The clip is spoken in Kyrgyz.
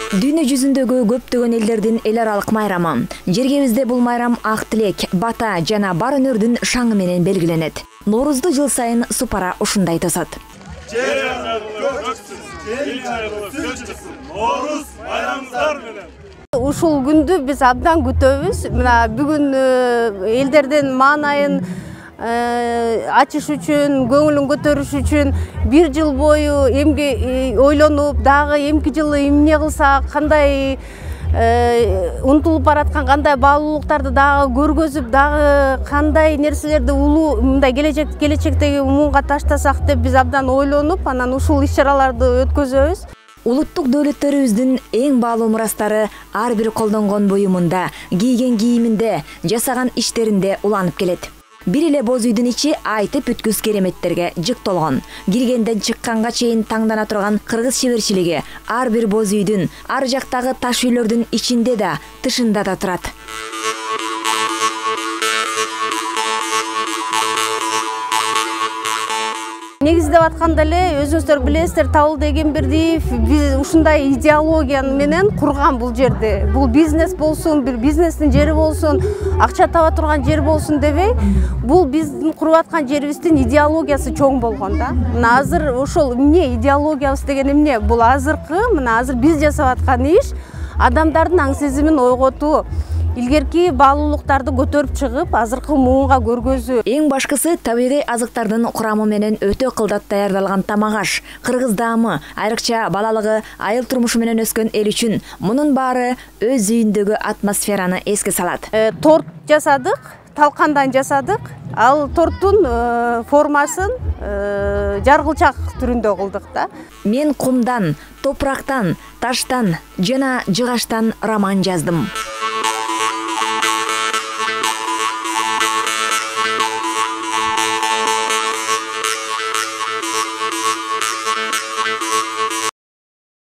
Дүйнө жүзүндөгү көптөгөн элдердин эл аралык майрамы. Жергебизде бул майрам ак тилек, бата жана бар өнөрдүн шаңы менен белгиленет. Ноорузду жыл сайын Супара ушундай тосот. Ноорус майрамыңыздар менен. Ушул күндү биз абдан күтөбүз. Мына бүгүн элдердин маанайын ачыш үчүн, көңүлүн көтөрүш үчүн бир жыл бою эмне ойлонуп, дагы эмки жылы эмне кылсак, кандай унутулуп бараткан кандай баалуулуктарды дагы көргөзүп, дагы кандай нерселерди улуу мындай келечектеги муунга таштасак деп биз абдан ойлонуп, анан ушул иш-чараларды өткөзөбүз. Улуттук дөөлөттөрүбүздүн эң баалуу мурастары ар бир колдонгон буюмунда, кийген кийиминде, жасаган иштеринде уланып келет. Бир эле боз үйдүн ичи айтып бүткүс кереметтерге жык толгон. Киргенден чыкканга чейин таңдана турган кыргыз шеберчилиги ар бир боз үйдүн, ар жактагы таш үйлөрдүн ичинде да, тышында да турат. Негиздеп атканда эле өзүңүздөр билесиздер, Табылды Эгембердиев биз ушундай идеология менен курган бул жерди. Бул бизнес болсун, бир бизнестин жери болсун, акча таба турган жер болсун дебей, бул биздин куруп аткан жерибиздин идеологиясы чоң болгон да. Мына азыр ошол эмне идеологиябыз деген эмне? Бул азыркы, мына азыр биз жасап аткан иш адамдардын аң сезимин ойготуу. Илгерки баалуулуктарды көтөрүп чыгып, азыркы муунга көргөзүү. Эң башкысы табигый азыктардын курамы менен өтө кылдат даярдалган тамак-аш. Кыргыз даамы, айрыкча балалыгы, айыл турмушу менен өскөн эл үчүн мунун баары өз үйүндөгү атмосфераны эске салат. Торт жасадык, талкандан жасадык. Ал торттун формасын жаргылчак түрүндө кылдык да. Мен кумдан, топурактан, таштан жана жыгачтан роман жаздым.